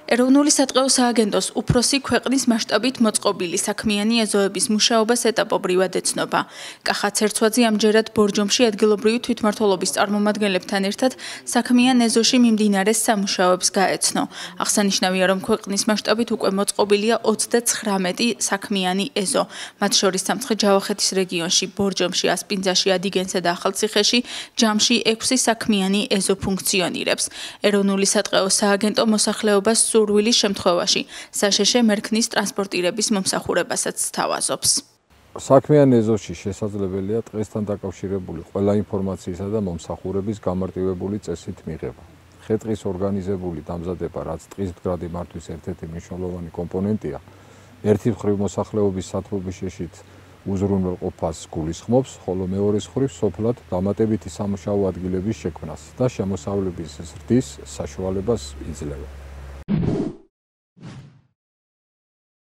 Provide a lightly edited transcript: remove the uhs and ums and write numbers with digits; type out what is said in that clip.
ეროვნული სატყეო სააგენტოს უფროსი ქვეყნის მასშტაბით მოწყობილი საქმიანი ეზოების მუშაობას ეტაპობრივად ეცნობა. კახა ცერცვაძე ამჯერად ბორჯომში ადგილობრივი თვითმმართველობის წარმომადგენლებთან ერთად საქმიან ეზოში მიმდინარე სამუშაოებს გაეცნო. აღსანიშნავია, რომ ქვეყნის მასშტაბით უკვე მოწყობილია 39 საქმიანი ეზო. მათ შორის სამცხე-ჯავახეთის რეგიონში, ბორჯომში, ასპინძაში, ადიგენსა და ახალციხეში ჯამში 6 საქმიანი ეზო ფუნქციონირებს. ეროვნული სატყეო სააგენტო მოსახლეობას სურვილის შემთხვევაში საშეშე მერქნის ტრანსპორტირების მომსახურებასაც სთავაზობს. საქმიან ეზოში შესაძლებელია ტყესთან დაკავშირებული ყველა ინფორმაციისა და მომსახურების გამარტივებული წესით მიღება. ხე-ტყის ორგანიზებული დამზადება, რაც ტყის მდგრადი მართვის ერთ-ერთი მნიშვნელოვანი კომპონენტია, ერთი მხრივ მოსახლეობის სათბობიშეშით უზრუნველყოფას გულისხმობს, ხოლო მეორეს მხრივ სოფლად დამატებითი სამუშაო ადგილების შექმნას და შემოსავლების ზრდის საშუალებას იძლევა.